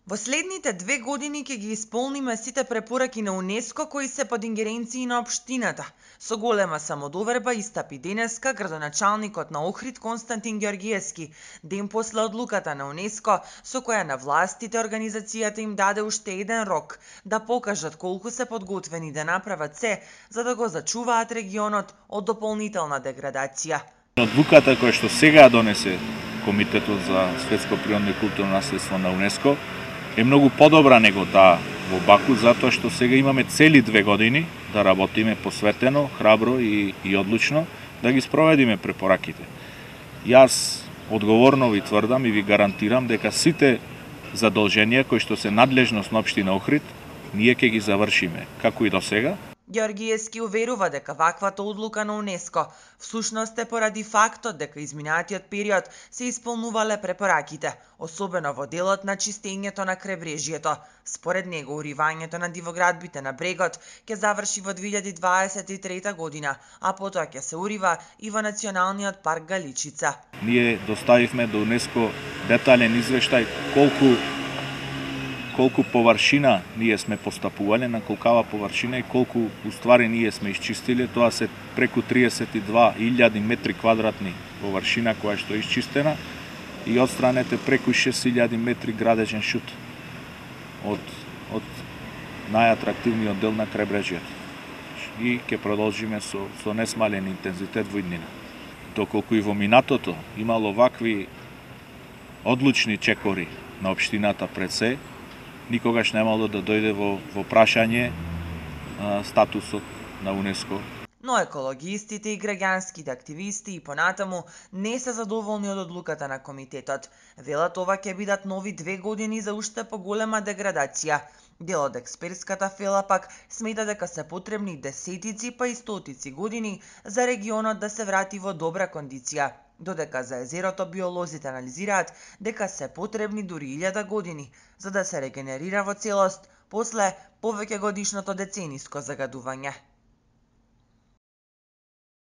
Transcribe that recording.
Во следните 2 години ќе ги исполниме сите препораки на УНЕСКО кои се под ингеренции на општината. Со голема самодоверба истапи денеска градоначалникот на Охрид Константин Ѓоргиевски, ден после одлуката на УНЕСКО со која на властите организацијата им даде уште еден рок да покажат колку се подготвени да направат се за да го зачуваат регионот од дополнителна деградација. Одлуката која што сега донесе Комитетот за светско природно и културно наследство на УНЕСКО е многу подобра него таа во Баку, затоа што сега имаме цели 2 години да работиме посветено, храбро и одлучно да ги спроведиме препораките. Јас одговорно ви тврдам и ви гарантирам дека сите задолженија кои што се надлежност на општина Охрид, ние ќе ги завршиме, како и до сега. Ѓоргиевски уверува дека ваквата одлука на УНЕСКО всушност е поради фактот дека изминатиот период се исполнувале препораките, особено во делот на чистењето на крайбрежјето. Според него, уривањето на дивоградбите на брегот ќе заврши во 2023 година, а потоа ќе се урива и во Националниот парк Галичица. Ние доставивме до УНЕСКО детален извештај колку површина ние сме постапувале, на колкава површина и колку уствари ние сме исчистиле. Тоа се преку 32.000 метри квадратни површина која што е исчистена и отстранете преку 6.000 метри градежен шут од најатрактивниот дел на крајбрежјето. И ќе продолжиме со несмален интензитет во иднина. Доколку и во минатото имало вакви одлучни чекори на општината пред се, никогаш немало да дојде во прашање статусот на УНЕСКО. Но екологистите и граѓанските активисти и понатаму не се задоволни од одлуката на комитетот. Велат ова ќе бидат нови 2 години за уште поголема деградација. Дел од експертската фела пак смета дека се потребни десетици па и стотици години за регионот да се врати во добра кондиција, додека за езерото биолозите анализираат дека се потребни дури 1000 години за да се регенерира во целост после повеќегодишното децениско загадување.